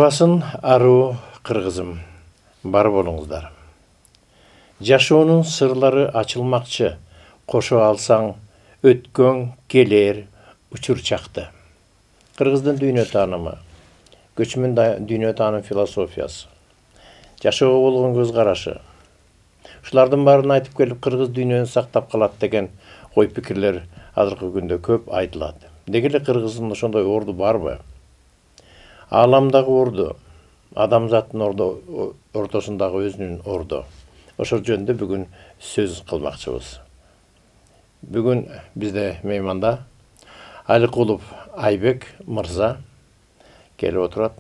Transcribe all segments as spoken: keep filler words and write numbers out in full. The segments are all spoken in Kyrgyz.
Алыстырбасын аруу кыргызым, бар болуңуздар. Жашоонун сырлары ачылмакчы, кошо алсаң өткөн келер учур чакты. Кыргыздын дүйнө таанымы, көчмөн дүйнө таанım философиясы, жашоого болгон көз карашы. Ушулардын баарын айтып келип, кыргыз дүйнөнү сактап калат деген ой пикирлер азыркы күндө көп айтылат. Деги эле кыргыздын ошондой орду барбы? Ааламдагы орду, адамзаттын орду ортосундагы өзүнүн орду. Ошол жөнүндө бүгүн сөз кылмакчыбыз. Бүгүн бизде мейманда Аликулов Айбек мырза келип отурат.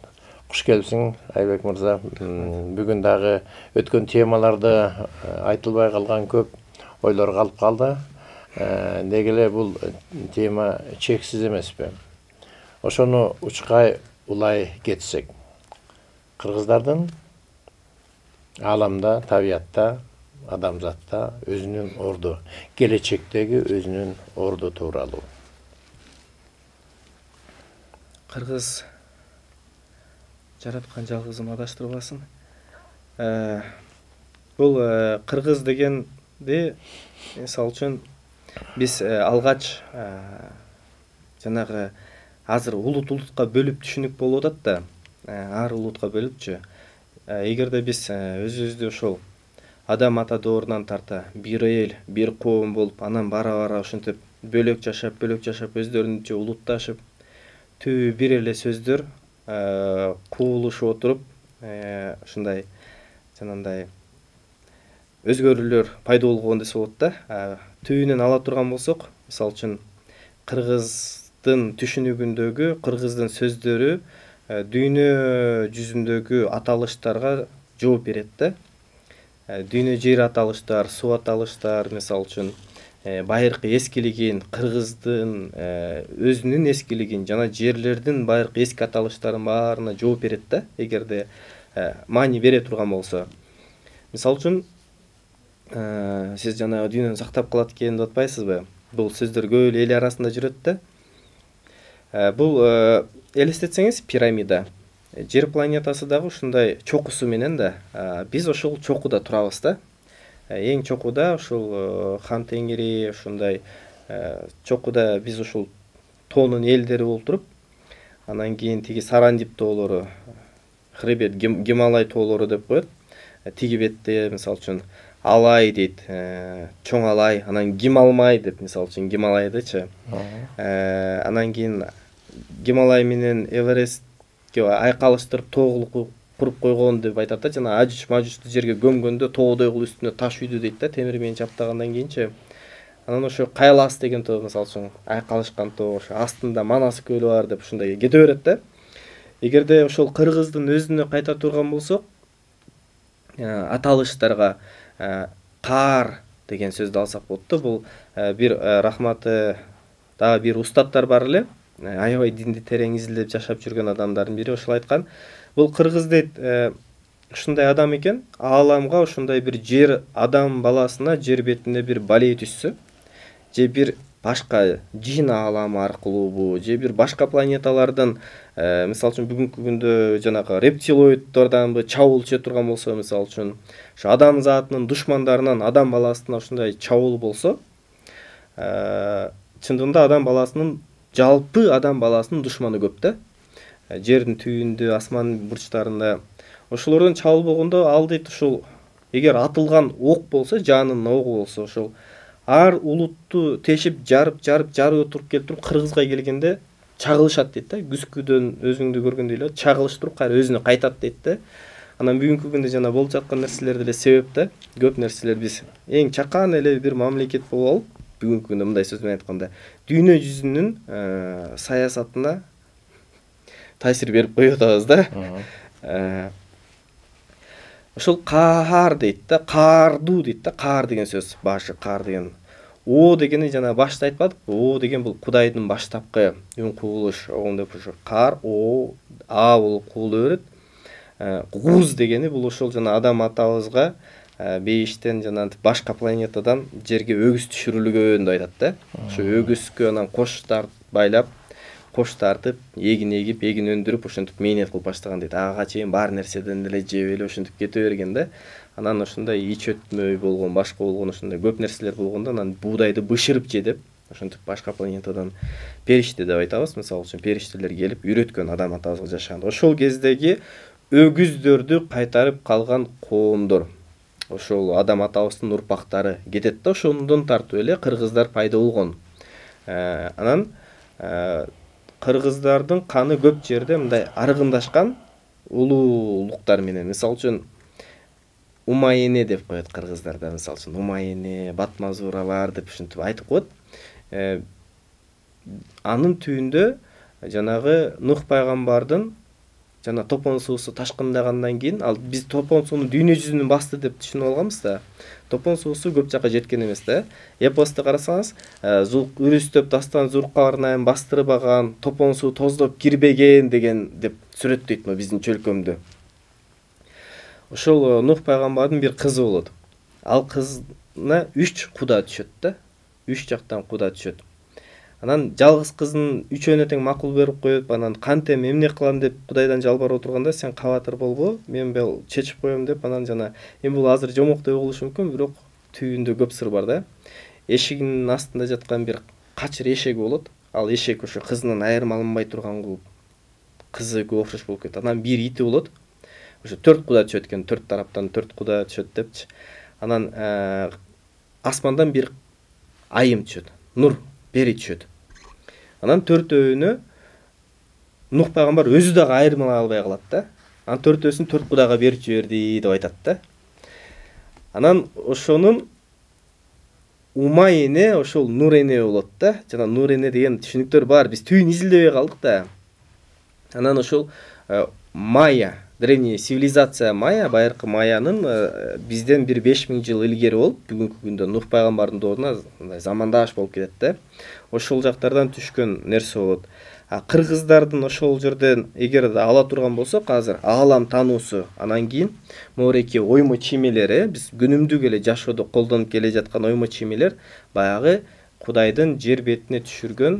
Куш келипсиң, Айбек мырза. Бүгүн дагы өткөн темаларды айтылбай калган көп ойлор калып калды. Деги эле бул тема чексиз эмеспи? Ошону учкай улай кетсек, кыргыздардын ааламда, табиятта, адамзатта өзүнүн орду, келечектеги өзүнүн орду тууралуу. Кыргыз жараткан жалгызын адаштырбасын. Бул кыргыз дегенди, мисалы үчүн биз алгач жанагы азыр улут улутка бөлүп түшүнүк болуп атат да, ар улутка бөлүпчү. Эгерде биз өзүбүздү ошол адам ата доорунан тарта бир эл, бир коом болуп, анан бара-бара ошентип бөлөк жашап, бөлөк жашап, өздөрүнчө улутташып, түбү бир эле сөздөр куулушуп отуруп, ушундай жанагындай өзгөрүүлөр пайда болгон десе болот да. Түбүнөн ала турган болсок, мисалы үчүн кыргыздын түшүнүгүндөгү, кыргыздын сөздөрү дүйнө жүзүндөгү аталыштарга жооп берет да. Дүйнө жер аталыштар, суу аталыштар, мисалы үчүн байыркы эскилигин, кыргыздын өзүнүн эскилигин жана жерлердин байыркы эски аталыштарынын баарына жооп берет да, эгерде маани бере турган болсо. Мисалы үчүн сиз жана дүйнөнү сактап калат экен деп атпайсызбы? Бул сөздөр көп эле эл арасында жүрөт да. Бул элестетсеңиз пирамида. Жер планетасы дагы ушундай чокусу менен да, биз ошол чокуда турабыз да. Эң чокуда ушул Хан Теңири, ушундай чокуда биз ушул тоонун элдери болуп туруп, анан кийин тиги Сарандип тоолору, хребет Гималай тоолору деп коет. Тиги бетте мисалы үчүн Алай дейт, чоң Алай, анан Гималмай деп, мисалы үчүн Гималайдычы. Анан кийин Гималай менен Эверестке айкалыштырып тоолук куруп койгон деп айтат да, жана Ажуч Мажучту жерге көмгөндө тоодой кылып үстүнө таш үйдү дейт да, темир менен чаптагандан кийинчи. Анан ошо Кайлас деген тоо, мисалы үчүн айкалышкан тоо, ошо астында Манас көлү бар деп ушундай кете берет да. Эгерде ошол кыргыздын өзүнө кайта турган болсок, аталыштарга каар деген сөздү алсак болот да. Бул бир рахматы дагы бир устаттар бар эле, аябай динди терең изилдеп жашап жүргөн адамдардын бири ошол айткан. Бул кыргыз дейт, ушундай адам экен, ааламга ушундай бир жер адам баласына жер бетинде бир балей түшсө, же бир башка жин ааламы аркылуубу, же бир башка планеталардан, мисалы үчүн бүгүнкү күндө жанагы рептилоиддорданбы чабуул түшө турган болсо, мисалы үчүн ошо адам затынын душмандарынан адам баласына ушундай чабуул болсо, чындыгында адам баласынын, жалпы адам баласынын душманы көп да. Жердин түбүндө, асмандын бурчтарында ошолордон чабуул болгондо, ал дейт ушул эгер атылган ок болсо, жанын огу болсо, ошол ар улутту тешип, жарып, жарып, жарып отуруп келип туруп кыргызга келгенде чагылышат дейт да. Күзгүдөн өзүңдү көргөндөй эле чагылышып туруп кайра өзүнө кайтат дейт да. Анан бүгүнкү күндө жана болуп жаткан нерселер деле себеп да. Көп нерселер биз эң чакан эле бир мамлекет болуп алып, бүгүнкү күндө мындай сөз менен айтканда, дүйнө жүзүнүн саясатына таасир берип коюп атабыз да. Ошол каар дейт да, каардуу дейт да, каар деген сөз, башы каар деген. О дегени жана башта айтпадыкпы? О деген бул Кудайдын баштапкы үн кубулуш, оң деп ошо каар, о, а болуп кубулу берет. Гуз дегени бул ошол жана адам атабызга бейиштен жана башка планетадан жерге өгүз түшүрүлгөн деп айтат да. Ошо өгүзгө анан кош байлап, кош тартып, эгин эгип, эгин өндүрүп, ошентип мээнет кылып баштаган дейт. Ага чейин баар нерседен эле жеп эле ошентип кете берген да. Анан ошондой ич өтмөй болгон, башка болгон ошондой көп нерселер болгондо анан буудайды бышырып же деп, ошентип башка планетадан периште деп айтабыз. Мисалы үчүн периштелер келип үйрөткөн адам атабызга жашаганда. Ошол кездеги өгүздөрдү кайтарып калган коомдор, ошол адам атабыздын урпактары кетет да, ошондон тартып эле кыргыздар пайда болгон. Анан кыргыздардын каны көп жерде мындай аргындашкан улуулуктар менен, мисалы үчүн Умайене деп коет кыргыздарда, мисалы үчүн Умайене, Батмазуралар деп ушинтип айтып коет. Анын түбүндө жанагы Нух пайгамбардын жана топон суусу ташкындагандан кийин, ал биз топон сууну дүйнө жүзүнүн басты деп түшүнүп алганбыз да. Топон суусу көп жакка жеткен эмес да. Эпосто карасаңыз, үрүстөп дастан Зулкарнайн бастырып алган, топон суу тоздоп кирбеген деген деп сүрөттөйт мо биздин чөлкөмдө. Ошол Нух пайгамбардын бир кызы болот. Ал кызына үч куда түшөт да. Үч жактан куда түшөт. Анан жалгыз кыздын үчөөнө тең макул берип коет. Анан кантем эмне кылам деп Кудайдан жалбарып отурганда, сен кабатыр болбо, мен бул чечип коем деп, анан жана эми бул азыр жомоктой болушу мүмкүн, бирок түбүндө көп сыр бар да. Эшигинин астында жаткан бир качыр эшеги болот. Ал эшек ошо кызынан айырмаланбай турган кылып кызыга окшош болуп кетет. Анан бир ити болот. Ошо төрт куда түшөт экен, төрт тараптан төрт куда түшөт депчи. Анан асмандан бир айым түшөт, нур бери түшөт. Анан төртөөнө Нух пайгамбар өзү дагы айырмалай албай калат да. Анан төртөөсүн төрт кудага берип жиберди деп айтат да. Анан ошонун Умайене ошол Нурене болот да. Жана Нурене деген түшүнүктөр бар. Биз түйүн изилдебей калдык да. Анан ошол Майя, древний цивилизация Майя, байыркы Майянын бизден бир беш миң жыл илгери болуп, бүгүнкү күндө Нух пайгамбардын дооруна замандаш болуп кетет да. Ошол жактардан түшкөн нерсе болот. А кыргыздардын ошол жерден эгер ала турган болсок, азыр аалам таануусу, анан кийин моореки оймо чимелери, биз күнүмдүк эле жашоодо колдонуп келе жаткан оймо чимелер баягы Кудайдын жер бетине түшүргөн,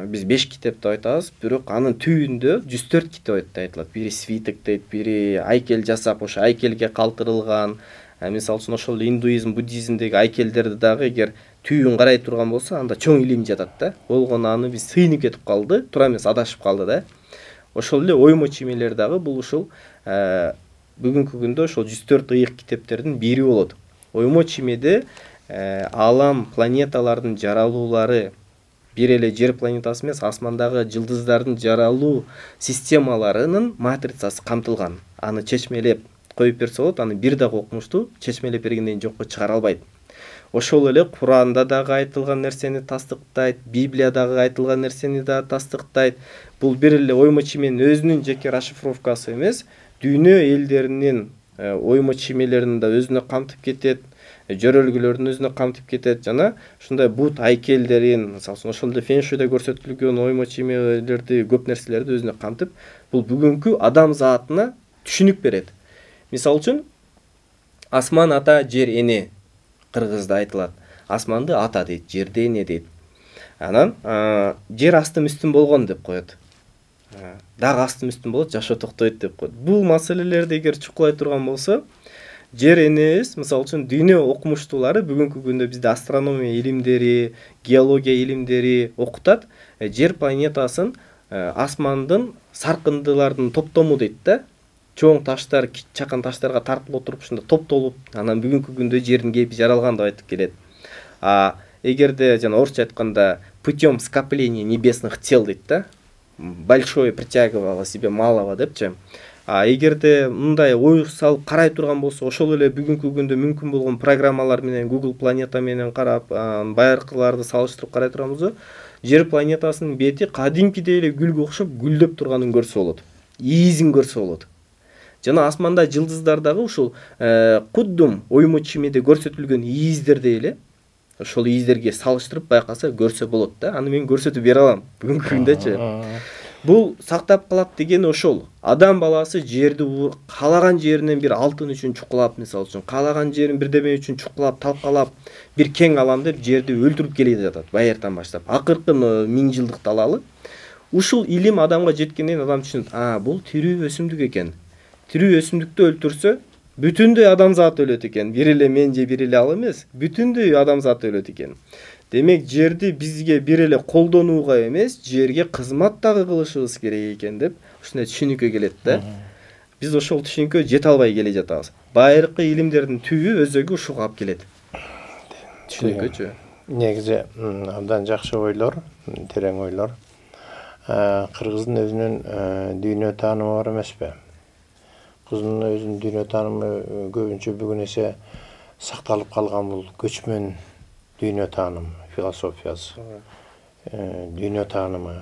биз беш китеп деп айтабыз, бирок анын түбүндө жүз төрт китеп деп айтылат. Бири свиток дейт, бири айкел жасап, ошо айкелге калтырылган. Мисалы үчүн ошол индуизм, буддизмдеги айкелдерди дагы эгер түйүн карай турган болсо, анда чоң илим жатат да. Болгону аны биз сыйынып кетип калды, туура эмес адашып калды да. Ошол эле оймо чимелер дагы бул ушул бүгүнкү күндө ошол жүз төрт ыйык китептердин бири болот. Оймо чимеде аалам, планеталардын жаралуулары бир эле жер планетасы эмес, асмандагы жылдыздардын жаралуу системаларынын матрицасы камтылган. Аны чечмелеп коюп берсе болот, аны бир дагы окумушту чечмелеп бергенден жокко чыгара албайт. Ошол эле Куранда дагы айтылган нерсени тастыктайт, Библиядагы айтылган нерсени да тастыктайт. Бул бир эле оймо чименин өзүнүн жеке расшифровкасы эмес, дүйнө элдеринин оймо чимелерин да өзүнө камтып кетет, жөрөлгүлөрдүн өзүнө камтып кетет, жана ушундай бут айкелдерин, мисалы ошол эле феншуйда көрсөтүлгөн оймо чимелерди, көп нерселерди өзүнө камтып, бул бүгүнкү адам затына түшүнүк берет. Мисалы үчүн асман ата, жер эне кыргызда айтылат. Асманды ата дейт, жерди эне дейт. Анан жер астым үстүн болгон деп коет. Дагы астым үстүн болот, жашоо токтойт деп коет. Бул маселелерди эгер чукулай турган болсо, жер энебиз, мисалы үчүн дүйнө окумуштуулары бүгүнкү күндө бизде астрономия илимдери, геология илимдери окутат. Жер планетасын асмандын саркындылардын топтому дейт да. Чоң таштар, чакан таштарга тартылып отуруп, ушунда топтолуп, анан бүгүнкү күндө жердин кейпи жаралган деп айтып келет. А эгерде жана орусча айтканда путем скопления небесных тел дейт да, большое притягивало себе малого депчи. А эгерде мындай ой салып карай турган болсо, ошол эле бүгүнкү күндө мүмкүн болгон программалар менен, Google планета менен карап, байыркыларды салыштырып карай турган болсо, жер планетасынын бети кадимкидей эле гүлгө окшоп гүлдөп турганын көрсө болот. Ийизин көрсө болот. Жана асманда жылдыздар дагы ушул куддум оймо чимеде көрсөтүлгөн ийиздердей эле, ошол ийиздерге салыштырып байкаса көрсө болот да. Аны мен көрсөтүп бере алам бүгүнкү күндөчү. Бул сактап калат дегени ошол. Адам баласы жерди каалаган жеринен бир алтын үчүн чукулап, мисалы үчүн, каалаган жерин бирдеме үчүн чукулап, талкалап, бир кең алам деп жерди өлтүрүп келе жатат байыртан баштап. Акыркы миң жылдыкты алалы. ушул илим адамга жеткенден кийин адам түшүнөт, а бул тирүү өсүмдүк экен. Тирүү өсүмдүктү өлтүрсө бүтүндөй адамзат өлөт экен. Бир эле мен же бир эле ал эмес, бүтүндөй адамзат өлөт экен. Демек жерди бизге бир эле колдонууга эмес, жерге кызмат дагы кылышыбыз керек экен деп ушундай түшүнүккө келет да. Биз ошол түшүнүккө жете албай келе жатабыз. Байыркы илимдердин түбү өзөгү ушуга алып келет. Түшүнүккөчү. Негизи абдан жакшы ойлор, терең ойлор. Кыргыздын өзүнүн дүйнө таанымы бар эмеспи? Кыргыздын өзүнүн дүйнө таанымы көбүнчө бүгүн эсе сакталып калган бул көчмөн дүйнө таанымы, философиясы, дүйнө таанымы.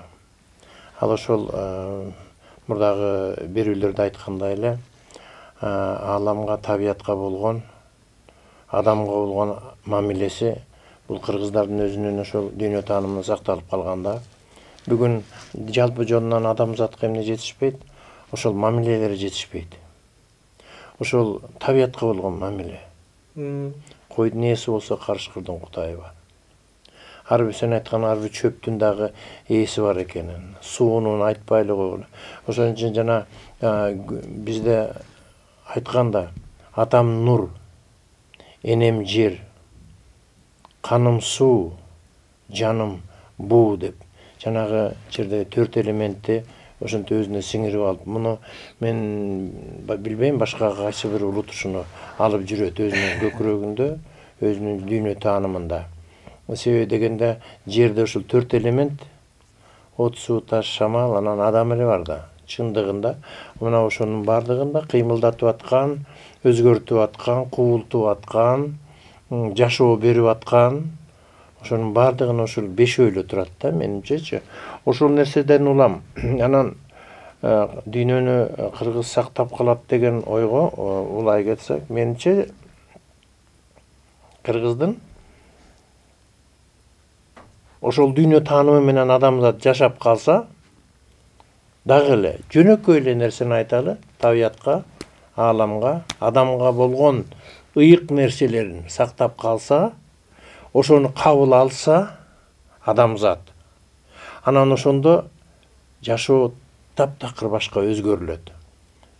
Ал ошол мурдагы берүүлөрдө айткандай эле ааламга, табиятка болгон, адамга болгон мамилеси бул кыргыздардын өзүнүн ошол дүйнө таанымында сакталып калганда. Бүгүн жалпы жонунан адамзатка эмне жетишпейт? Ошол мамилелер жетишпейт. Ошол табиятка болгон мамиле. Койдун ээси болсо карышкырдын кутайы бар. Ар бир сен айткан ар бир чөптүн дагы ээси бар экенин, суунун айтпайлы койгула. Ошон үчүн жана бизде айтканда атам нур, энем жер, каным суу, жаным буу деп жанагы жердеги төрт элементти ошентип өзүнө сиңирип алып, муну мен билбейм башка кайсы бир улут ушуну алып жүрөт өзүнүн көкүрөгүндө, өзүнүн дүйнө таанымында. Себеби дегенде жерде ушул төрт элемент от, суу, таш, шамал, анан адам эле бар да. Чындыгында мына ошонун бардыгында кыймылдатып аткан, өзгөртүп аткан, кубултуп аткан, жашоо берип аткан, ошонун бардыгын ошол бешөөлө турат да, менимчечи. Ошол нерседен улам. Анан дүйнөнү кыргыз сактап калат деген ойго улай кетсек, менимче кыргыздын ошол дүйнө таанымы менен адамзат жашап калса, дагы эле жөнөкөй эле нерсени айталы, табиятка, ааламга, адамга болгон ыйык нерселерин сактап калса, ошону кабыл алса адамзат, анан ошондо жашоо таптакыр башка өзгөрүлөт.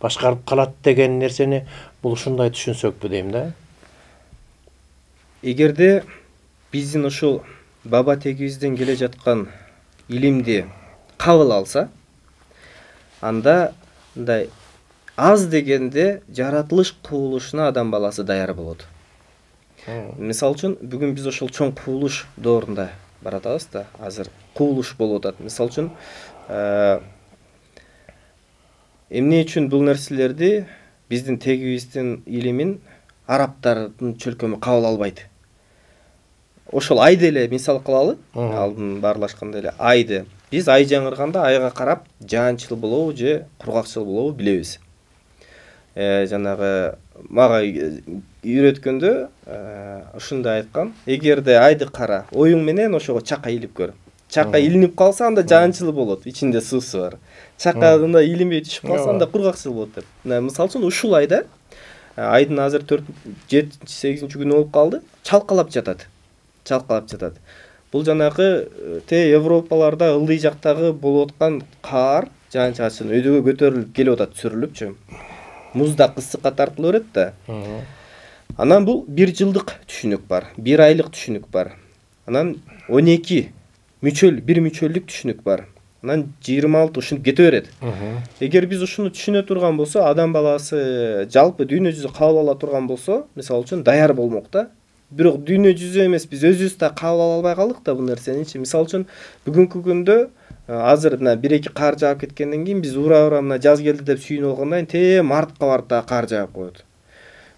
Башкарып калат деген нерсени бул ушундай түшүнсөкпү дейм да. Эгерде биздин ушул баба тегибизден келе жаткан илимди кабыл алса, анда мындай аз дегенде жаратылыш кубулушуна адам баласы даяр болот. Мисалы үчүн бүгүн биз ошол чоң кубулуш доорунда баратабыз да. Азыр кубулуш болуп атат. Мисалы үчүн эмне үчүн бул нерселерди биздин тегибиздин илимин арабтардын чөлкөмү кабыл албайт? Ошол айды эле мисал кылалы, алдын баарлашканда эле айды. Биз ай жаңырганда айга карап жаанчыл болобу же кургакчыл болобу билебиз. Э жанагы мага үйрөткөндө ушундай айткан: эгерде айды кара, оюң менен ошого чака илип көр. Чака илинип калса анда жаанчыл болот, ичинде суусу бар. Чакагында илинбей түшүп калса анда кургакчыл болот деп. Мисалы үчүн ушул айда айдын азыр төрт жетинчи сегизинчи күнү болуп калды, чалкалап жатат. Чалкалап жатат. Бул жанагы те Европаларда ылдый жактагы болуп аткан кар, жаан-чачын өйдөгө көтөрүлүп келип атат, сүрүлүпчү. Музда ысыкка тартыла берет да. Анан бул бир жылдык түшүнүк бар, бир айлык түшүнүк бар. Анан он эки мүчөл, бир мүчөлдүк түшүнүк бар. Анан жыйырма алты ушинтип кете берет. Эгер биз ушуну түшүнө турган болсо, адам баласы жалпы дүйнө жүзү кабыл ала турган болсо, мисалы үчүн даяр болмок да. Бирок дүйнө жүзү эмес, биз өзүбүз да кабыл ала албай калдык да бул нерсеничи. Мисалы үчүн бүгүнкү күндө азыр мына бир эки кар жаап кеткенден кийин биз ура-ура мына жаз келди деп сүйүнүп алгандан кийин те мартка барып да кар жаап коет.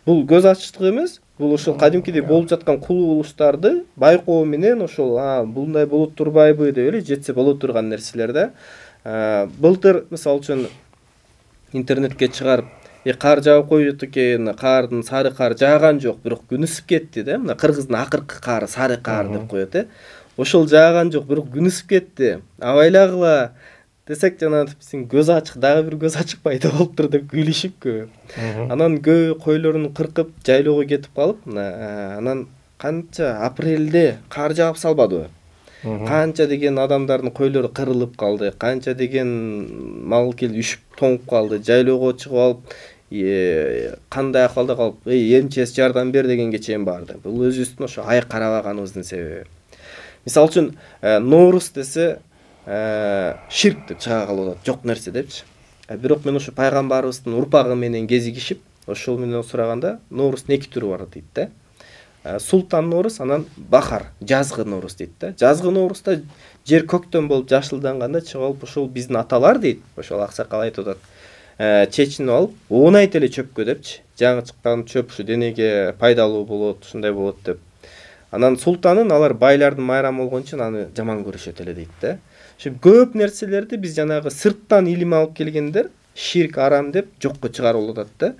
Бул көз ачыштык эмес, бул ошол кадимкидей болуп жаткан кубулуштарды байкоо менен ошол булундай болуп турбайбы деп эле жетсе боло турган нерселер да. Былтыр мисалы үчүн интернетке чыгарып E кар жаап коюп экен, кардын сары кар жааган жок, бирок күн ысып кетти да. Мына Кыргыздын акыркы кары сары кар деп коет э. Ошол жааган жок, бирок күн ысып кетти. Абайлагыла десек жана биздин көз ачык, дагы бир көз ачык пайда болуптур деп күйлүшүп. Анан көө койлорун кыркып жайлоого кетип калып, анан канча апрелде кар жаап салбадыбы? Канча деген адамдардын койлору кырылып калды, канча деген мал келип үшүп тоңуп калды, жайлоого чыгып алып кандай акыбалда калып, эй МЧС жардам бер дегенге чейин барды. Бул өзүбүздүн ошо ай карабаганыбыздын себеби. Мисалы үчүн Ноурус десе ширк деп чыга калып атат, жок нерсе депчи. Бирок мен ошо пайгамбарыбыздын урпагы менен кезигишип, ошол менен сураганда Ноурустун эки түрү бар дейт да. Султан Ноурус, анан Бахар, жазгы Ноурус дейт да. Жазгы Ноуруста жер көктөн болуп жашылданганда чыгып алып, ошол биздин аталар дейт, ошол аксакал айтып атат, чечинип алып, оонайт эле чөпкө депчи. Жаңы чыккан чөп ушу денеге пайдалуу болот, ушундай болот деп. Анан султанын алар байлардын майрамы болгон үчүн аны жаман көрүшөт эле дейт да. Ошо көп нерселерди биз жанагы сырттан илим алып келгендер ширк арам деп жокко чыгарып атат да.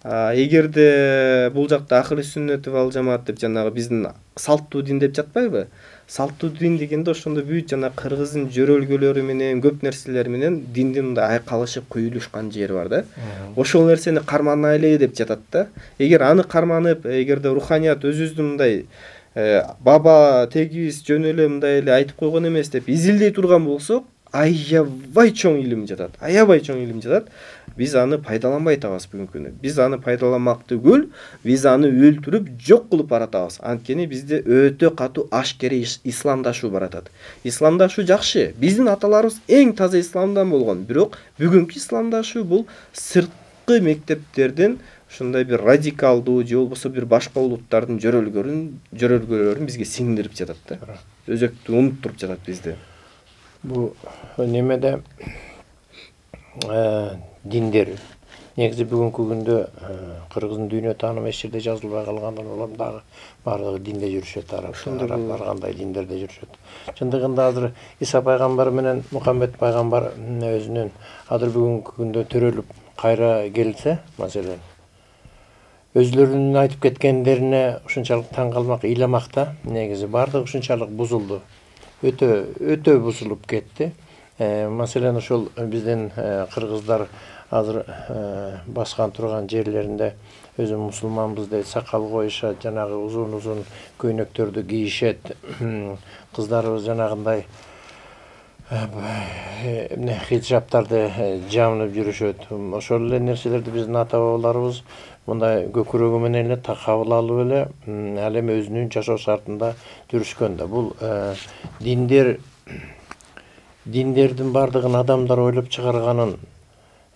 Эгерде бул жакта ахли сүннөт вал жамаат деп жанагы биздин салттуу дин деп жатпайбы? Салттуу дин дегенде ошондо бүт жана кыргыздын жөрөлгөлөрү менен көп нерселер менен диндин мындай айкалышып куюлушкан жери бар да. Ошол нерсени карманайлы деп жатат да. Эгер аны карманып, эгерде руханият өзүбүздүн мындай баба тегибиз жөн эле мындай эле айтып койгон эмес деп изилдей турган болсок, аябай чоң илим жатат. Аябай чоң илим жатат. Биз аны пайдаланбай атабыз бүгүнкү күнү. Биз аны пайдаланмак түгүл, биз аны өлтүрүп жок кылып баратабыз. Анткени бизде өтө катуу ашкери исламдашуу баратат. Исламдашуу жакшы. Биздин аталарыбыз эң таза исламдан болгон. Бирок бүгүнкү исламдашуу бул сырткы мектептердин ушундай бир радикалдуу же болбосо бир башка улуттардын жөрөлгөрүн, жөрөлгөлөрүн бизге сиңдирип жатат да. Өзөктү унуттуруп жатат бизди. Бу немеде диндер негизи бүгүнкү күндө кыргыздын дүйнө таанымы эч жерде жазылбай калгандан улам дагы баардыгы динде жүрүшөт, араб кандай диндерде жүрүшөт. Чындыгында азыр Иса пайгамбар менен Мухаммед пайгамбар өзүнүн азыр бүгүнкү күндө төрөлүп кайра келсе, маселен, өзлөрүнүн айтып кеткендерине ушунчалык таң калмак, ыйламак да, негизи баардыгы ушунчалык бузулду. Өтө өтө бузулуп кетти. Маселен, ошол биздин кыргыздар азыр баскан турган жерлеринде өзү мусулманбыз дейт, сакал коюшат, жанагы узун-узун көйнөктөрдү кийишет. Кыздарыбыз жанагындай эмне хиджаптарды жамынып жүрүшөт. Ошол эле нерселерди биздин ата бабаларыбыз мындай көкүрөгү менен эле кабыл алып эле ал эми өзүнүн жашоо шартында жүрүшкөн да. Бул диндер диндердин баардыгын адамдар ойлоп чыгарганын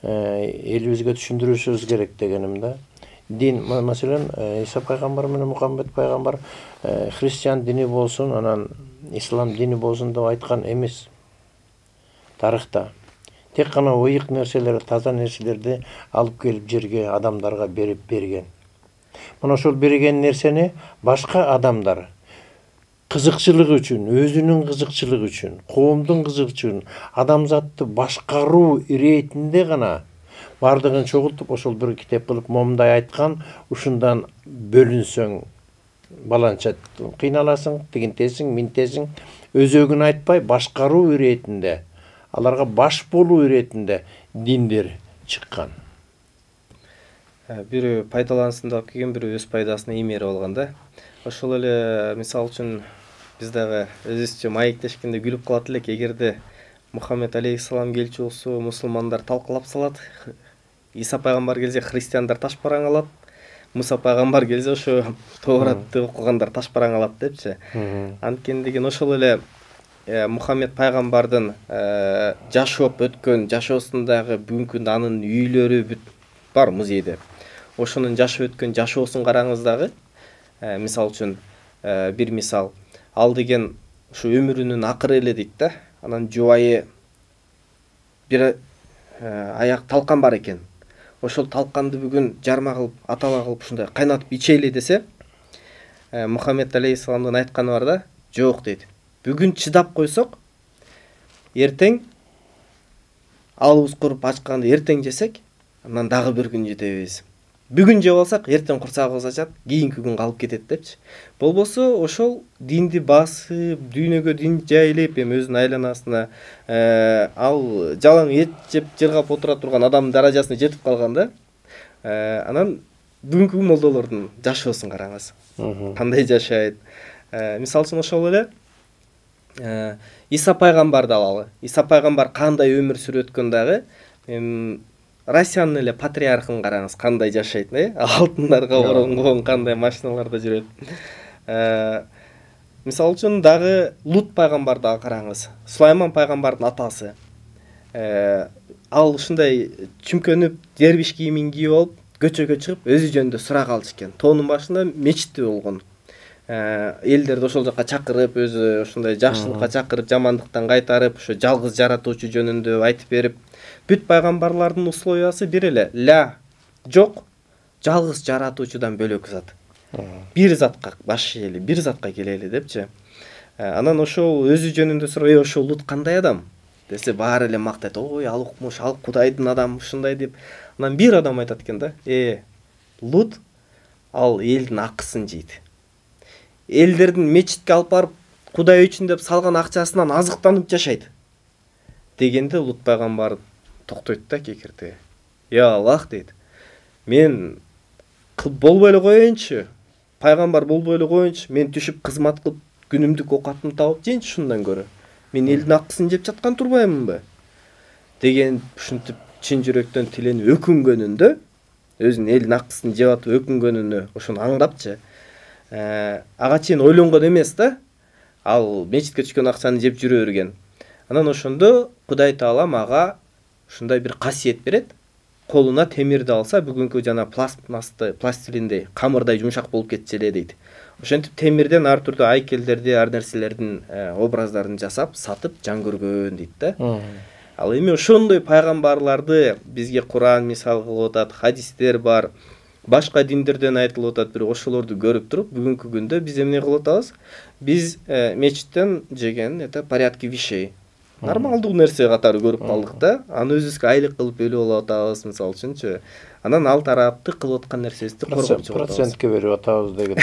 элибизге түшүндүрүшүбүз керек дегеним да. Дин, маселен, Иса пайгамбар менен Мухаммед пайгамбар христиан дини болсун, анан ислам дини болсун деп айткан эмес. Тарыхта тек гана ыйык нерселер, таза нерселерди алып келип жерге адамдарга берип берген. Мына ошол берген нерсени башка адамдар кызыкчылыгы үчүн, өзүнүн кызыкчылыгы үчүн, коомдун кызыгчылыгы үчүн, адамзатты башкаруу иретинде гана баардыгын чогултуп ошол бир китеп кылып момундай айткан, ушундан бөлүнсөң баланча кыйналасың, тигинтесиң, минтесиң, өзөгүн айтпай башкаруу иретинде, аларга баш болуу иретинде диндер чыккан. Бирөө пайдалансын деп келген, бирөө өз пайдасына иймерип алган да. Ошол эле мисалы үчүн биз дагы өзүбүзчө маектешкенде күлүп калат элек, эгерде Мухаммед алейхиссалам келчү болсо, мусулмандар талкалап салат. Иса пайгамбар келсе, христиандар ташпараң алат. Муса пайгамбар келсе, ошо Тооратты окугандар ташпараң алат депчи. Анткени деген ошол эле Мухаммед пайгамбардын жашоп өткөн жашоосундагы бүгүнкү күндө анын үйлөрү бүт бар музейде. Ошонун жашап өткөн жашоосун караңыз дагы. Мисалы үчүн бир мисал, ал деген ушу өмүрүнүн акыры эле дейт да. Анан жубайы бир аяк талкан бар экен. Ошол талканды бүгүн жарма кылып, атала кылып ушундай кайнатып ичели десе, Мухаммед алейхиссаламдын айтканы бар да, жок дейт. Бүгүн чыдап койсок, эртең алыбыз куруп ачканды эртең жесек, анан дагы бир күн жетебиз. Бүгүн жеп алсак, эртең курсагыбыз ачат, кийинки күн калып кетет депчи. Болбосо ошол динди басып, дүйнөгө дин жайылып, эми өзүнүн айланасына ал жалаң эт жеп жыргап отура турган адамдын даражасына жетип калган да. Анан бүгүнкү молдолордун жашоосун караңыз. Кандай жашайт. Мисалы үчүн ошол эле Иса пайгамбарды алалы. Иса пайгамбар кандай өмүр сүрүп өткөн дагы, Россиянын эле патриархын караңыз, кандай жашайт, э? Алтындарга оронгон, кандай машиналарда жүрөт. Мисалы үчүн дагы Лут пайгамбарды караңыз. Сулайман пайгамбардын атасы. Ал ушундай чүмкөнүп, дербиш кийимин кийип алып, көчөгө чыгып, өзү жөнүндө сурак алчу экен. Тоонун башында мечити болгон. Элдерди ошол жака чакырып, өзү ушундай жакшылыкка чакырып, жамандыктан кайтарып, ошо жалгыз жаратуучу жөнүндө айтып берип, бүт пайгамбарлардын условиясы бир эле. Ля, жок, жалгыз жаратуучудан бөлөк зат. Бир затка баш ийели, бир затка келели депчи. Анан ошол өзү жөнүндө сурап, "Э, ошол Лут кандай адам?" десе, баары эле мактайт. "Ой, ал укмуш, ал Кудайдын адамы, ушундай" деп. Анан бир адам айтат экен да: "Э, Лут ал элдин акысын жейт. Элдердин мечитке алып барып, Кудай үчүн деп салган акчасынан азыктанып жашайт" дегенде Лут пайгамбар токтойт да кекирти. "Я Аллах" дейт. "Мен болбой эле коеюнчу, пайгамбар болбой эле коеюнчу, мен түшүп кызмат кылып, күнүмдүк окатымды табып жейинчи шундан көрө. Мен элдин акысын жеп жаткан турбаймынбы?" деген ушинтип чын жүрөктөн тиленип өкүнгөнүндө, өзүнүн элдин акысын жеп атып өкүнгөнүнө ошону аңдапчы. Ага чейин ойлонгон эмес да. Ал мечитке түшкөн акчаны жеп жүрө берген. Анан ошондо Кудай Таала мага ушундай бир касиет берет. Колуна темирди алса, бүгүнкү жана пластмассты, пластилиндей, камырдай жумшак болуп кетчү эле дейт. Ошентип темирден ар түрдүү айкелдерди, ар нерселердин образдарын жасап, сатып жан көргөн дейт да. Ал эми ошондой пайгамбарларды бизге Куран мисал кылып атат, хадистер бар, башка диндерден айтылып атат, бирок ошолорду көрүп туруп, бүгүнкү күндө биз эмне кылып атабыз? Биз мечиттен жеген это порядки вещей. Нормалдуу нерсе катары көрүп калдык да. Аны өзүбүзгө айлык кылып өлүп алып атабыз, мисалы үчүнчү. Анан ал тарапты кылып аткан нерсебизди коргоп чыгып атабыз. Процентке берип атабыз деген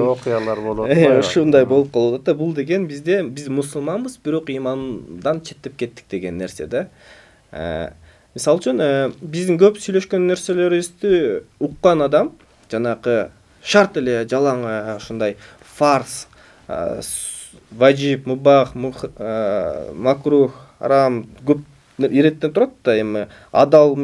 окуялар болуп атпайбы? Ушундай болуп калып атат да. Бул деген бизде биз мусулманбыз, бирок имандан четтеп кеттик деген нерсе да. Мисалы үчүн биздин көп сүйлөшкөн нерселерибизди уккан адам жанакы шарт эле жалаң ушундай фарз, важип, мубах, макрух, харам көп иреттен турат да. Эми адал,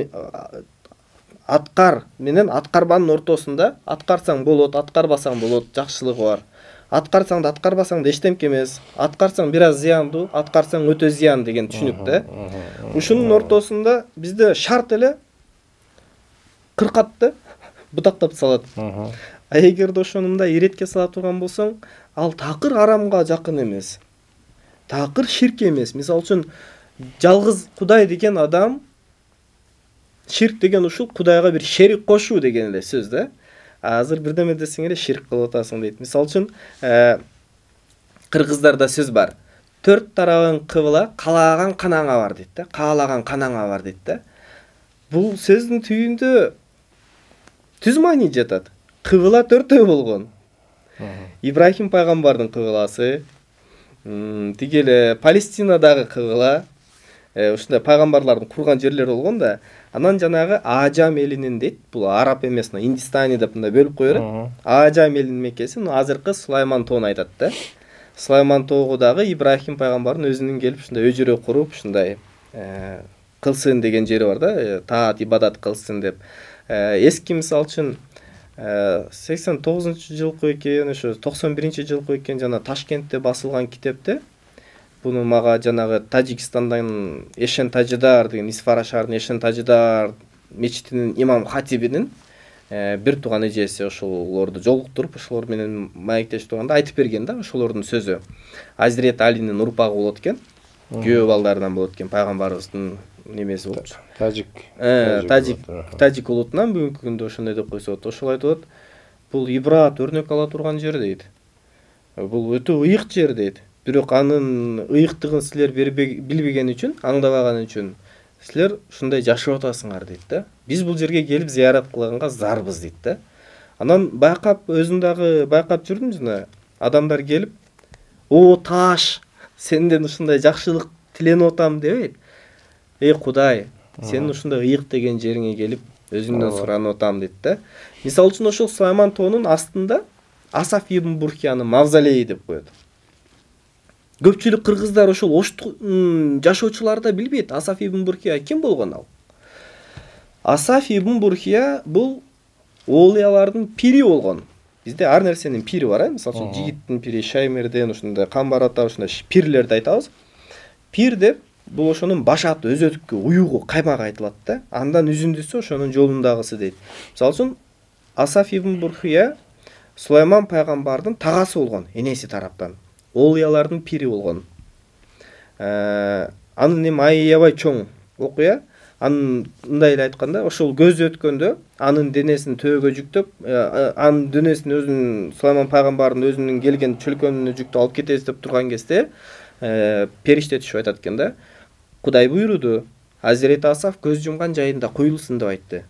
аткар менен аткарбанын ортосунда аткарсаң болот, аткарбасаң болот, жакшылыгы бар. Аткарсаң да аткарбасаң да эчтемке эмес. Аткарсаң бир аз зыяндуу, аткарсаң өтө зыян деген түшүнүк да. Ушунун ортосунда бизде шарт эле кыркатты бутактап салат. А эгерде ошону мындай иретке сала турган болсоң, ал такыр арамга жакын эмес. Такыр ширк эмес. Мисалы үчүн жалгыз Кудай деген адам, ширк деген ушул Кудайга бир шерик кошуу деген эле сөз да. Азыр бирдеме десең эле ширк кылып атасың дейт. Мисалы үчүн кыргыздарда сөз бар. Төрт тарабың кыбыла, каалаган канаңа бар дейт да. Каалаган канаңа бар дейт да. Бул сөздүн түбүндө түз маани жатат. Кыбыла төртөө болгон. Ибрахим пайгамбардын кыбыласы, тиги эле Палестинадагы кыбыла, ушундай пайгамбарлардын курган жерлери болгон да. Анан жанагы Ажам элинин дейт, бул араб эмес, Индистани деп мындай бөлүп кое берет. Ажам элинин мекеси азыркы Сулайман тоону айтат да. Сулайман тоого дагы Ибрахим пайгамбардын өзүнүн келип ушундай өжөрө куруп, ушундай кылсын деген жери бар да, таат ибадат кылсын деп. Эски мисалы үчүн сексен тогузунчу жылкы экен, ошо токсон биринчи жылкы экен, жана Ташкентте басылган китепте буну мага жанагы Тажикстандан Эшен Тажидар деген Исфара шаарынын Эшен Тажидар мечитинин имам хатибинин бир тууган эжеси ошолорду жолуктуруп, ошолор менен маектешип турганда айтып берген да, ошолордун сөзү. Азирет Алинин урпагы болот экен. Күйөө балдарынан болот экен, пайгамбарыбыздын немеси болчу. Тажик. Тажик, Тажик улутунан бүгүнкү күндө ошондой деп койсо болот. Ошол айтып атат. Бул ибрат, өрнөк ала турган жер дейт. Бул өтө ыйык жер дейт. Бирок анын ыйыктыгын силер билбеген үчүн, аңдабаган үчүн силер ушундай жашап атасыңар дейт да. Биз бул жерге келип зыярат кылганга зарбыз дейт да. Анан байкап, өзүм дагы байкап жүрдүм жана адамдар келип, "О, таш, сенден ушундай жакшылык тиленип атам" дебейт. "Эй Кудай, сенин ушундай ыйык деген жериңе келип өзүңдөн суранып атам" дейт да. Мисалы үчүн ошол Сулайман тоонун астында Асаф ибн Бурхиянын мавзолейи деп коет. көпчүлүк кыргыздар ошол Оштун жашоочулары да билбейт Асаф ибн Бурхия ким болгон ал. Асаф ибн Бурхия бул оолиялардын пири болгон. Бизде ар нерсенин пири бар, э? Мисалы үчүн жигиттин пири, Шаймерден, ушундай Камбар ата ушундай пирлерди айтабыз. Пир деп бул ошонун баш аты, өзөткү, уюгу, каймагы айтылат да. Андан үзүндүсү ошонун жолундагысы дейт. Мисалы үчүн Асаф ибн Бурхия Сулайман пайгамбардын тагасы болгон, энеси тараптан. Оолиялардын пири болгон. Анын эми аябай чоң окуя. Анын мындай эле айтканда, ошол көз өткөндө анын денесин төөгө жүктөп, анын денесин өзүнүн Сулайман пайгамбардын өзүнүн келген чөлкөөнүнө жүктөп алып кетебиз деп турган кезде, периште түшүп айтат экен да. Кудай буйруду, Азирети Асаф көз жумган жайында коюлсун деп айтты.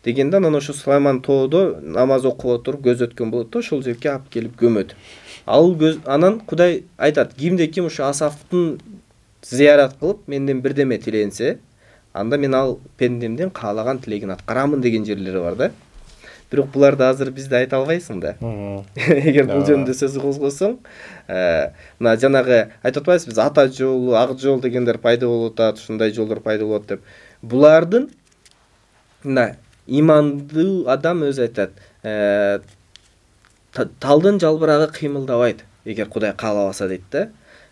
Дегенде анан ошо Сулайман тоодо намаз окуп отуруп көз өткөн болот да, ошол жерге алып келип көмөт. Ал көз анан Кудай айтат, кимде ким ошо Асафтын зыярат кылып менден бирдеме тиленсе, анда мен ал пендемдин каалаган тилегин аткарамын деген жерлери бар да. Бирок буларды азыр бизде айта албайсың да. Эгер бул жөнүндө сөз козгосоң, мына жанагы айтып атпайбызбы, биз ата жолу, ак жол дегендер пайда болуп атат, ушундай жолдор пайда болот деп. Булардын мына имандуу адам өзү айтат, талдын жалбырагы кыймылдабайт, эгер Кудай каалабаса дейт да.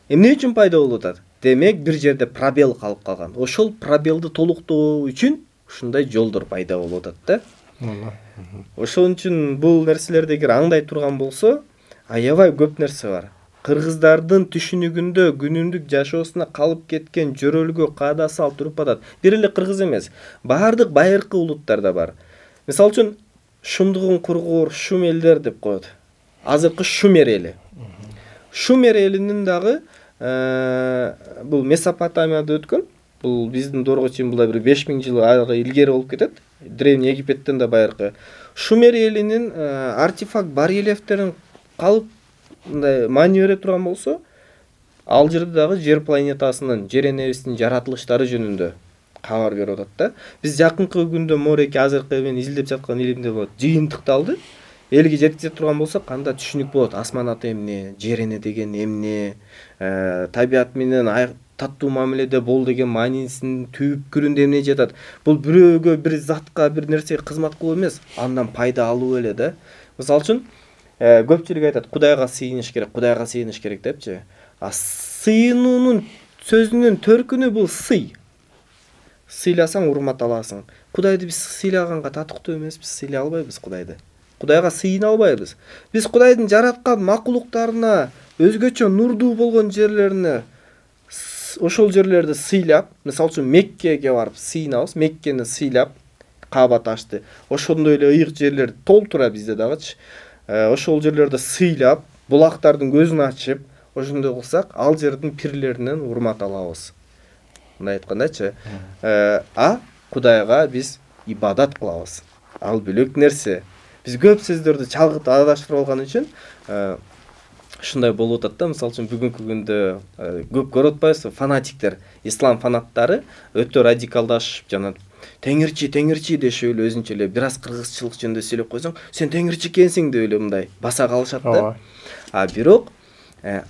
Эмне үчүн пайда болуп атат? Демек бир жерде пробел калып калган. Ошол пробелди толуктоо үчүн ушундай жолдор пайда болуп атат да. Ошон үчүн бул нерселерди эгер аңдай турган болсо, аябай көп нерсе бар. Кыргыздардын түшүнүгүндө күнүмдүк жашоосуна калып кеткен жөрөлгө каада салт туруп атат. Бир эле кыргыз эмес, баардык байыркы улуттарда бар. Мисалы үчүн Шумдугун кургуур Шум элдер деп коет. Азыркы Шумер эли. Шумер элинин дагы бул Месопотамияда өткөн. Бул биздин доорго чейин булда бир беш миң жыл илгери болуп кетет. Древний Египеттен да байыркы. Шумер элинин артефакт барельефтерин калып мындай маани бере турган болсо, ал жерде дагы жер планетасынын, жер энебиздин жаратылыштары жөнүндө кабар берип атат да. Биз жакынкы күндө мореки азыркы мен изилдеп жаткан илимде болот. Жыйынтыкталды. Элге жеткизе турган болсок, кандай түшүнүк болот. Асман аты эмне, жер эне деген эмне, табият менен таттуу мамиледе бол деген маанисинин түпкүрүндө эмне жатат. Бул бирөөгө, бир затка, бир нерсеге кызмат кылуу эмес, андан пайда алуу эле да. Мисалы үчүн көпчүлүк айтат, Кудайга сыйыныш керек, Кудайга сыйыныш керек депчи. А сыйынуунун сөзүнүн төркүнү бул сый. Сыйласаң урмат аласың. Кудайды биз сыйлаганга татыктуу эмеспиз, сыйлай албайбыз Кудайды. Кудайга сыйына албайбыз. Биз Кудайдын жараткан макулуктарына, өзгөчө нурдуу болгон жерлерине ошол жерлерди сыйлап, мисалы үчүн Меккеге барып сыйнабыз, Меккени сыйлап, Кааба ташты. Ошондой эле ыйык жерлер толтура бизде дагычы. Ошол жерлерди сыйлап, булактардын көзүн ачып, ошондой кылсак, ал жердин пирлеринен урмат алабыз. Мындай айткандачы, а Кудайга биз ибадат кылабыз. Ал бөлөк нерсе. Биз көп сөздөрдү чалгытып адаштырып алган үчүн ушундай болуп атат да. Мисалы үчүн бүгүнкү күндө көп көрүп атпайбызбы, фанатиктер, ислам фанаттары өтө радикалдашып, жана теңирчи, теңирчи дешип эле өзүнчө эле бир аз кыргызчылык жөнүндө сүйлөп койсоң, сен теңирчи экенсиң деп эле мындай баса калышат да. А бирок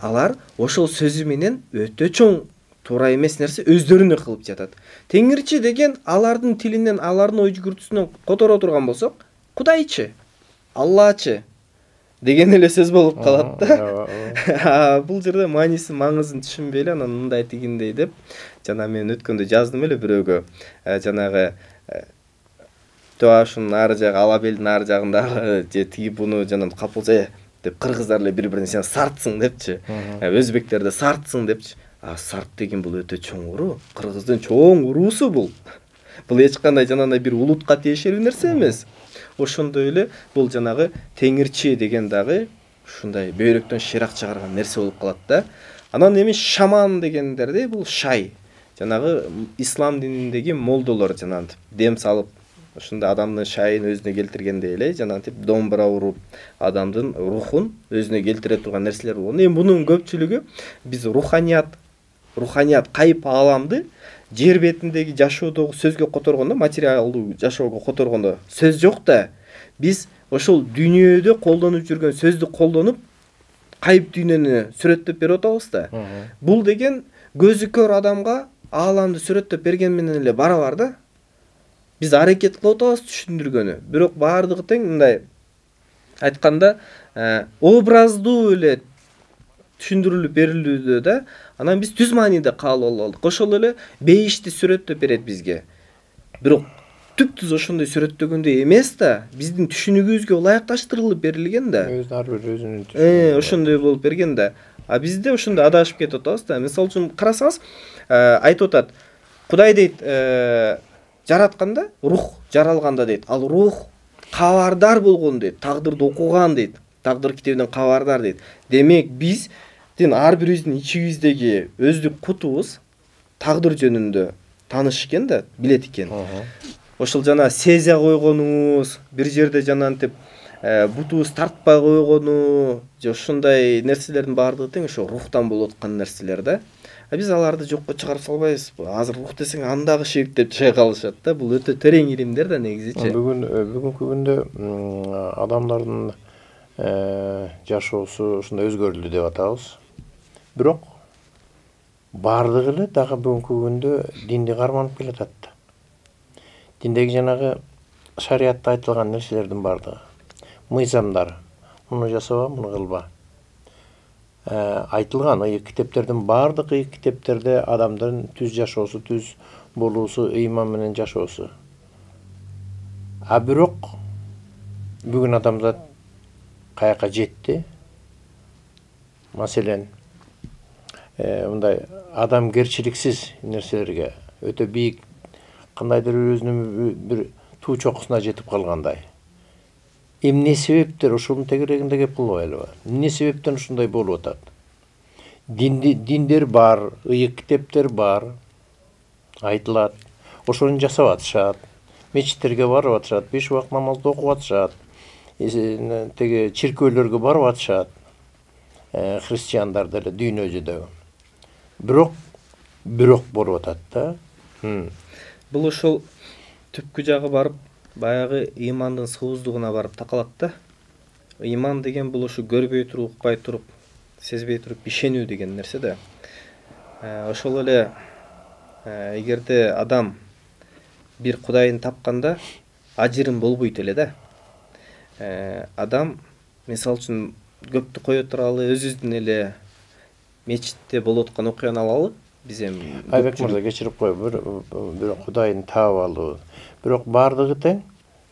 алар ошол сөзү менен өтө чоң туура эмес нерсе өздөрүнө кылып жатат. Теңирчи деген алардын тилинен, алардын ой жүгүртүүсүнөн которо турган болсок, Кудайчы, Аллачы деген эле сөз болуп калат да. Бул жерде маанисин, маңызын түшүнбөй эле анан мындай тигиндей деп, жана мен өткөндө жаздым эле бирөөгө, жанагы Тоашунун ары жагы, Алабелдин ары жагындагы же тиги буну жанагы капылса деп кыргыздар эле бири-бирине сен сартсың депчи, өзбектер да сартсың депчи. А сарт деген бул өтө чоң уруу, кыргыздын чоң уруусу бул. Бул эч кандай жанагындай бир улутка тиешелүү нерсе эмес. Ошондой эле бул жанагы теңирчи деген дагы ушундай бөйрөктөн ширак чыгарган нерсе болуп калат да. Анан эми шаман дегендерде бул шай. Жанагы ислам дининдеги молдолор жанагы дем салып, ушундай адамдын шайын өзүнө келтиргендей эле жанагы домбура уруп, адамдын рухун өзүнө келтире турган нерселер болгон. Эми бунун көпчүлүгү биз руханият, руханият кайып ааламды жер бетиндеги жашоодогу сөзгө которгондо, материалдуу жашоого которгондо сөз жок да, биз ошол дүйнөдө колдонуп жүргөн сөздү колдонуп кайып дүйнөнү сүрөттөп берип атабыз да. Бул деген көзү көр адамга ааламды сүрөттөп берген менен эле барабар да. Биз аракет кылып атабыз түшүндүргөнү. Бирок баардыгы тең мындай айтканда образдуу эле түшүндүрүлүп берилүүдө да. Анан биз түз мааниде кабыл алып алдык. Ошол эле бейишти сүрөттөп берет бизге. Бирок түп-түз ошондой сүрөттөгөндөй эмес да. Биздин түшүнүгүбүзгө ылайыкташтырылып берилген да. Өзү ар бир өзүнүн түшүнүгү. Ошондой болуп берген да. А бизде ошондой адашып кетип атабыз да. Мисалы үчүн карасаңыз, айтып атат, Кудай дейт, жаратканда рух жаралганда дейт. Ал рух кабардар болгон дейт, тагдырды окуган дейт. Тагдыр китебинен кабардар дейт. Демек биздин ар бирибиздин ичибиздеги өздүк кутубуз тагдыр жөнүндө таныш экен да, билет экен. Ошол жана сезе койгонубуз, бир жерде жанагынтип бутубуз тартпай койгону, же ушундай нерселердин баардыгы тең ошо рухтан болуп аткан нерселер да. А биз аларды жокко чыгарып салбайбызбы? Азыр рух десең андагы ширк деп чыга калышат да. Бул өтө терең илимдер да негизичи. Бүгүн бүгүнкү күндө адамдардын жашоосу ушундай өзгөрүлдү деп атабыз. Бирок баардыгы эле дагы бүгүнкү күндө динди карманып келатат да. Диндеги жанагы шариятта айтылган нерселердин баардыгы, мыйзамдар, муну жасаба, муну кылба. Айтылган ыйык китептердин баардык ыйык китептерде адамдын түз жашоосу, түз болуусу, ыйман менен жашоосу. А бирок бүгүн адамзат каяка жетти? Маселен, мындай адамгерчиликсиз нерселерге өтө бийик кандайдыр өзүнүн бир туу чокусуна жетип калгандай. Эмне себептер ошонун тегерегинде кеп кылбайлыбы? Эмне себептен ушундай болуп атат? Динди диндер бар, ыйык китептер бар, айтылат. Ошону жасап атышат. Мечиттерге барып атышат, беш убак намазды окуп атышат. Теге чиркөөлөргө барып атышат. Христиандар деле дүйнө жүзүндө. Бирок бирок болуп атат да. Бул ошол түпкү жагы барып баягы ыймандын сууздугуна барып такалат да. Ыйман деген бул ушу көрбөй туруп, укпай туруп, сезбей туруп ишенүү деген нерсе да. Ошол эле эгерде адам бир Кудайын тапканда ажырым болбойт эле да. Адам мисалы үчүн көптү кое туралы өзүбүздүн эле мечитте болуп аткан окуяны алалы. Биз эми Айбек мырза кечирип кой, бир бир Кудайын таап алуу. Бирок баардыгы тең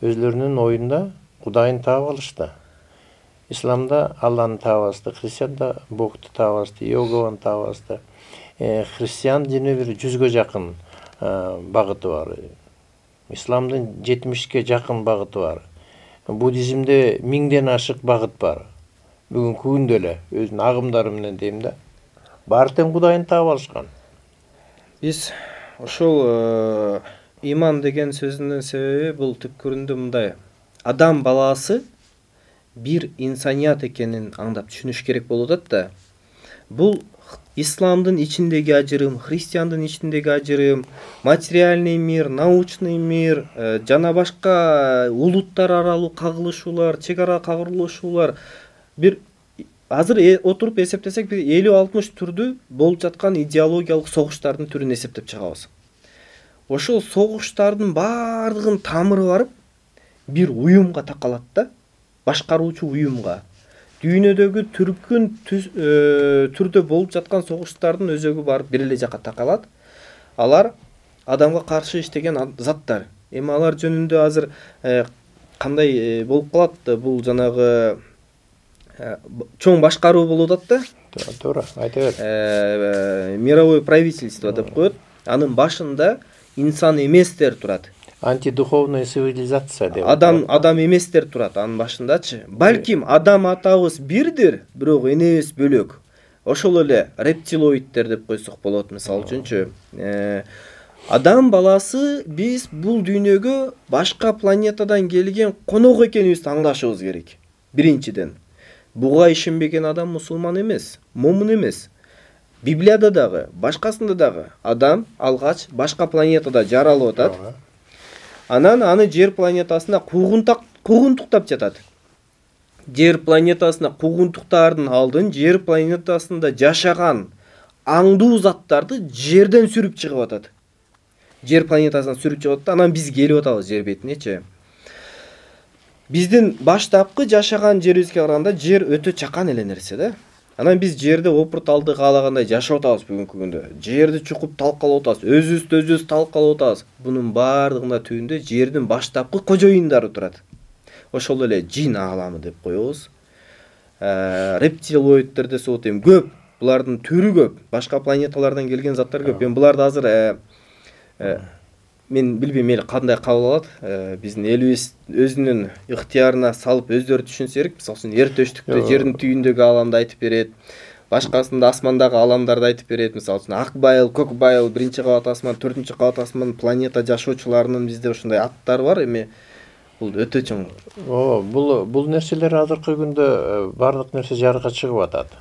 өзлөрүнүн оюнда Кудайын таап алышты. Исламда Алланы таап алышты, христианда Богду таап алышты, Иегованы таап алышты. Христиан дини бир жүзгө жакын багыты бар. Исламдын жетимишке жакын багыты бар. Буддизмде миңден ашык багыт бар. Бүгүнкү күндө эле өзүнүн агымдары менен дейм да. Баары тең Кудайын таап алышкан. Биз ошол ыйман деген сөзүнүн себеби бул түпкүрүндө мындай. Адам баласы бир инсаният экенин аңдап түшүнүш керек болуп атат да. Бул исламдын ичиндеги ажырым, христиандын ичиндеги ажырым, материальный мир, научный мир, жана башка улуттар аралуу кагылышуулар, чек ара кагылышуулар бир азыр отуруп эсептесек бир элүү алтымыш түрдүү болуп жаткан идеологиялык согуштардын түрүн эсептеп чыгабыз. Ошол согуштардын баардыгынын тамыры барып бир уюмга такалат да, башкаруучу уюмга. Дүйнөдөгү түркүн түрдө болуп жаткан согуштардын өзөгү барып бир эле жака такалат. Алар адамга каршы иштеген заттар. Эми алар жөнүндө азыр кандай болуп калат? Бул жанагы чоң башкаруу болуп атат да. Туура, айта бер. Мировое правительство деп коет. Анын башында инсан эместер турат. Антидуховная цивилизация деп. Адам адам эместер турат анын башындачы. Балким адам атабыз бирдир, бирок энебиз бөлөк. Ошол эле рептилоидтер деп койсок болот, мисалы үчүнчү. Адам баласы биз бул дүйнөгө башка планетадан келген конок экенибизди аңлашыбыз керек. Биринчиден, буга ишенбеген адам мусулман эмес, момун эмес. Библияда дагы, башкасында дагы адам алгач башка планетада жаралып атат. Анан аны жер планетасында куугунтак куугунтуктап жатат. жер планетасына куугунтуктардын алдын жер планетасында жашаган аңдуу заттарды жерден сүрүп чыгып атат. Жер планетасынан сүрүп чыгып атат, анан биз келип атабыз жер бетинечи. Биздин баштапкы жашаган жерибизге караганда жер өтө чакан эле нерсе да. Анан биз жерде опурталды каалагандай жашап атабыз бүгүнкү күндө. Жерди чукуп талкалап атабыз, өзүбүздү өзүбүз талкалап атабыз. Бунун баардыгында түбүндө жердин баштапкы кожоюндары турат. Ошол эле жин ааламы деп коебуз. Рептилоиддер десе болот, эми көп. Булардын түрү көп. Башка планеталардан келген заттар көп. Эми буларды азыр мен билбейм эл кандай кабыл алат. Биздин элибиз өзүнүн ыктыярына салып өздөрү түшүнсө керек. Мисалы үчүн эр төштүктө жердин түбүндөгү ааламды айтып берет. Башкасында асмандагы ааламдарды айтып берет. Мисалы үчүн ак байыл, көк байыл, биринчи кабат асман, төртүнчү кабат асман, планета жашоочуларынын бизде ушундай аттары бар. Эми бул өтө чоң. Ооба, бул бул нерселер азыркы күндө бардык нерсе жарыкка чыгып атат.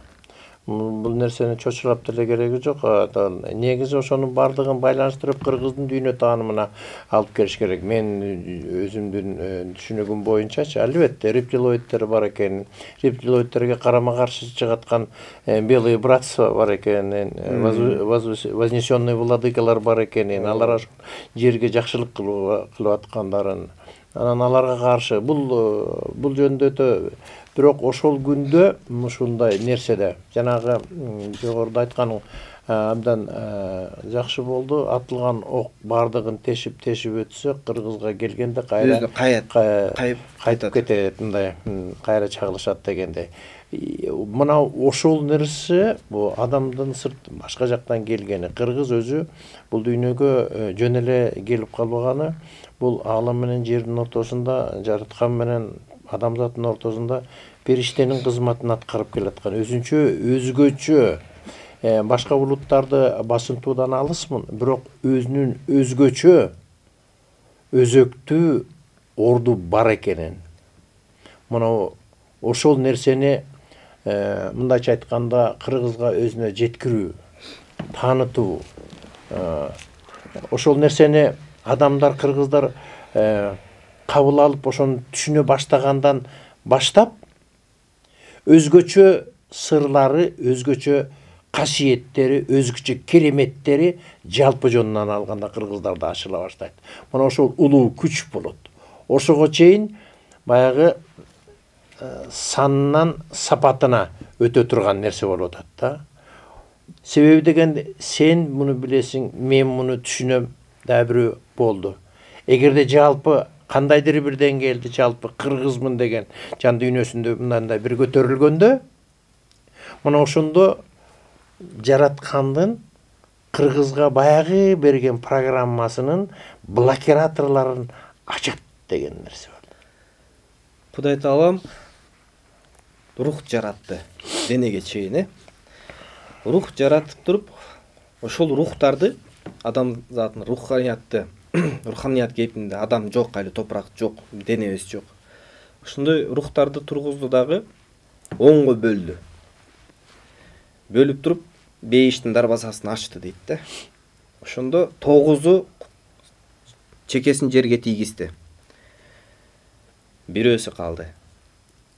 Бул нерсени чочулап деле кереги жок. Негизи ошонун бардыгын байланыштырып кыргыздын дүйнө таанымына алып келиш керек. Мен өзүмдүн түшүнүгүм боюнчачы, албетте рептилоиддер бар экен. Рептилоиддерге карама каршы чыгаткан белые братства бар экен, вознесенные владыкалар бар экен. Алар жерге жакшылык кылып аткандарын, анан аларга каршы бул бул жөнүндө өтө. Бирок ошол күндө ушундай нерседе жанагы жогоруда айтканың абдан жакшы болду. Атылган ок бардыгын тешип тешип өтсө, кыргызга келгенде кайра кайтып кетет, мындай кайра чагылышат дегендей. Мына ошол нерсе бул адамдын сырт башка жактан келгени. Кыргыз өзү бул дүйнөгө жөн эле келип калбаганы, бул аалам менен жердин ортосунда, жараткан менен адамзаттын ортосунда периштенин кызматын аткарып келаткан. Өзүнчө, өзгөчө, башка булуттарды басынтуудан алысмын, бирок өзүнүн өзгөчө, өзөктүү орду бар экенин. Мына ошол нерсени мындайча айтканда кыргызга өзүнө жеткирүү, таанытуу. Ошол нерсени адамдар, кыргыздар кабыл алып, ошону түшүнө баштагандан баштап өзгөчө сырлары, өзгөчө касиеттери, өзгөчө кереметтери жалпы жонунан алганда кыргыздарда ачыла баштайт. Мына ошол улуу күч болот. Ошого чейин баягы санынан сапатына өтө турган нерсе болуп атат да. Себеби деген сен муну билесиң, мен муну түшүнөм, да бирөө болду. Эгерде жалпы кандайдыр бир деңгээлде жалпы кыргызмын деген жан дүйнөсүндө мындай бир көтөрүлгөндө, мына ошондо жараткандын кыргызга баягы берген программасынын блокираторлорун ачат деген нерсе бар. Кудай Таалам рух жаратты денеге чейин, э? Рух жаратып туруп, ошол рухтарды, адам затын руханиятты, руханият кейпинде адам жок, али топурак жок, денебиз жок. Ошондой рухтарды тургузду дагы онго бөлдү. Бөлүп туруп бейиштин дарбазасын ачты дейт да. Ошондо тогузу чекесин жерге тийгизди. Бирөөсү калды.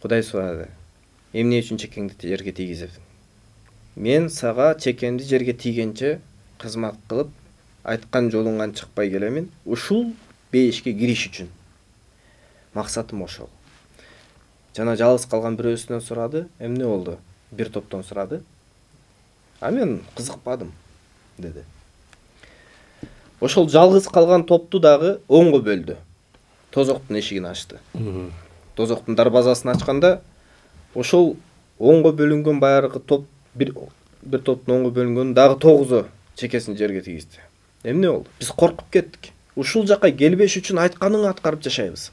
Кудай сурады: эмне үчүн чекеңди жерге тийгизип? Мен сага чекемди жерге тийгенче кызмат кылып, айткан жолуңан чыкпай келемин. Ушул бейишке кириш үчүн. Максатым ошол. Жана жалгыз калган бирөөсүнөн сурады: эмне болду? Бир топтон сурады. А мен кызыкпадым, деди. Ошол жалгыз калган топту дагы онго бөлдү. Тозоктун эшигин ачты. Тозоктун дарбазасын ачканда, ошол онго бөлүнгөн баягы топ, бир бир топтун онго бөлүнгөн дагы тогузу чекесин жерге тийгизди. Эмне болду? Биз коркуп кеттик. Ушул жакка келбеш үчүн айтканыңы аткарып жашайбыз.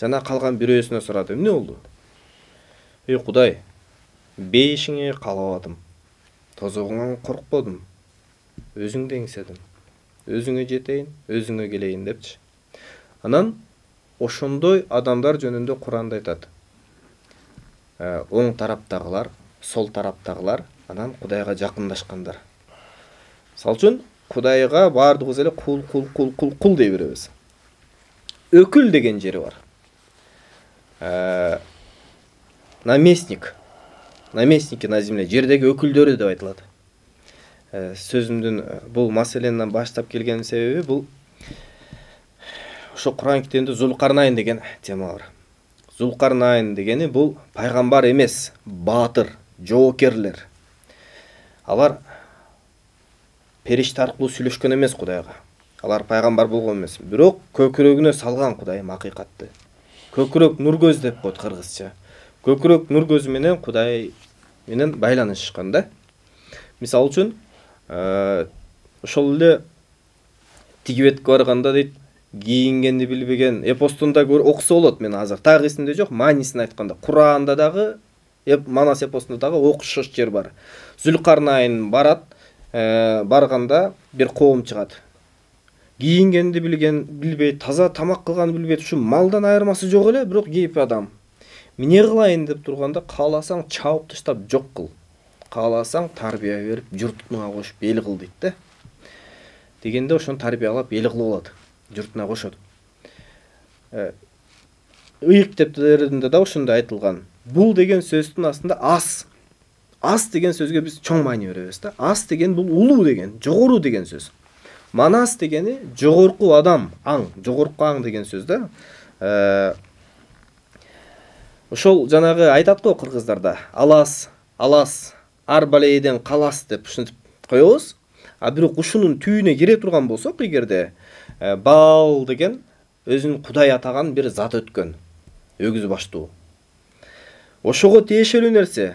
Жана калган бирөөсүнө сурады: эмне болду? Эй Кудай, бейишиңе каалабадым. Тозогуңан коркподум. Өзүңдү эңседим. Өзүңө жетейин, өзүңө келейин депчи. Анан ошондой адамдар жөнүндө Куранда айтат. Оң тараптагылар, сол тараптагылар, анан Кудайга жакындашкандар. Мисалы үчүн Кудайга баардыгыбыз эле кул, кул, кул, кул, кул дей беребиз. Өкүл деген жери бар. наместник, наместники на земле, жердеги өкүлдөрү деп айтылат. Сөзүмдүн бул маселени баштап келген себеби бул ошо Куран китебинде Зулкарнайн деген тема бар. Зулкарнайн дегени бул пайгамбар эмес, баатыр, жоокерлер. Алар периште аркылуу сүйлөшкөн эмес Кудайга. Алар пайгамбар болгон эмес. Бирок көкүрөгүнө салган Кудайым акыйкатты. Көкүрөк нур көз деп коет кыргызча. Көкүрөк нур көзү менен Кудай менен байланышкан да. Мисалы үчүн, ошол эле тиги бетке барганда дейт, кийингенди билбеген эпостунда окуса болот. Мен азыр так эсимде жок, маанисин айтканда Куранда дагы, Манас эпосунда дагы окшош жер бар. Зулкарнайн барат, барганда бир коом чыгат. Кийингенди билген билбейт, таза тамак кылганды билбейт, ушу малдан айырмасы жок эле, бирок кейп адам. Эмне кылайын деп турганда, кааласаң чабып таштап жок кыл. Кааласаң тарбия берип, журтуна кошуп эл кыл дейт да. Дегенде ошону тарбиялап эл кылып алат, журтуна кошот. Ыйык китептеринде да ошондой айтылган. Бул деген сөздүн астында ас. Ас деген сөзгө биз чоң маани беребиз да. Ас деген бул улуу деген, жогору деген сөз. Манас дегени жогорку адам, аң, жогорку аң деген сөз да. Ошол жанагы айтат го кыргыздарда, алас, алас, арбалейден калас деп ушинтип коебуз. А бирок ушунун түйүнө кире турган болсок, эгерде Баал деген өзүн Кудай атаган бир зат өткөн, өгүз баштуу. Ошого тиешелүү нерсе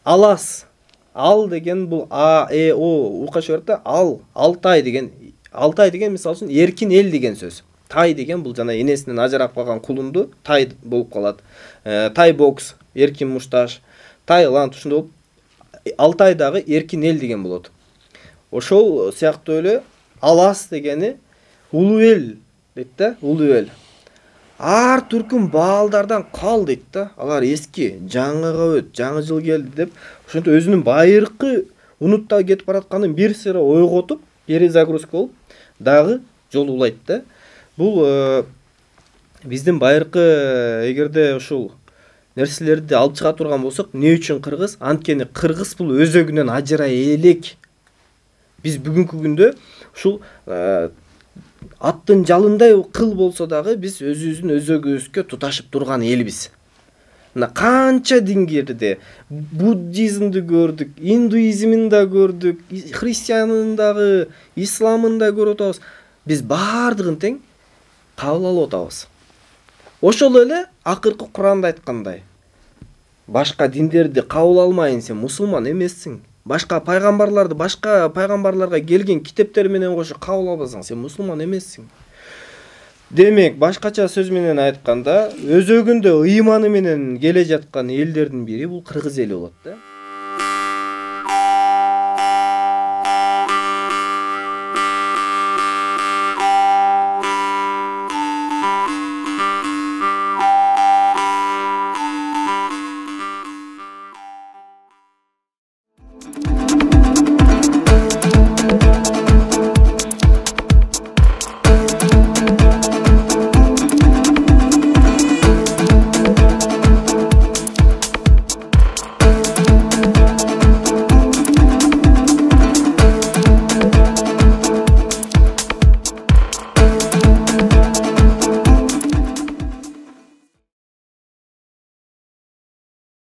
алас. Ал деген бул а, э, о укка чыгарат да, ал, Алтай деген, Алтай деген мисалы үчүн эркин эл деген сөз. Тай деген бул жана энесинен ажырап калган кулунду тай болуп калат. Тай бокс, эркин мушташ, Тайланд ушундай болуп, Алтай дагы эркин эл деген болот. Ошол сыяктуу эле алас дегени улуу эл дейт да, улуу эл. Ар түркүн баалдардан кал дейт да. Алар эски, жаңыга өт, жаңы жыл келди деп, ошентип өзүнүн байыркы унутта кетип баратканын бир сыйра ойготуп, перезагрузка болуп, дагы жол улайт да. Бул биздин байыркы эгерде ушул нерселерди алып чыга турган болсок, эмне үчүн кыргыз? Анткени кыргыз бул өзөгүнөн ажырай элек. Биз бүгүнкү күндө ушул аттын жалындай кыл болсо дагы биз өзүбүздүн өзөгүбүзгө туташып турган элбиз. Мына канча дингерде буддизмди көрдүк, индуизмин да көрдүк, христианын дагы, исламын да көрүп атабыз. Биз баардыгын тең кабыл алып атабыз. Ошол эле акыркы Куранда айткандай, башка диндерди кабыл алмайын, сен мусулман эмессиң. Башка пайгамбарларды, башка пайгамбарларга келген китептер менен кошо кабыл албасаң, сен мусулман эмессиң. Демек, башкача сөз менен айтканда, өзөгүндө ыйманы менен келе жаткан элдердин бири бул кыргыз эли болот да.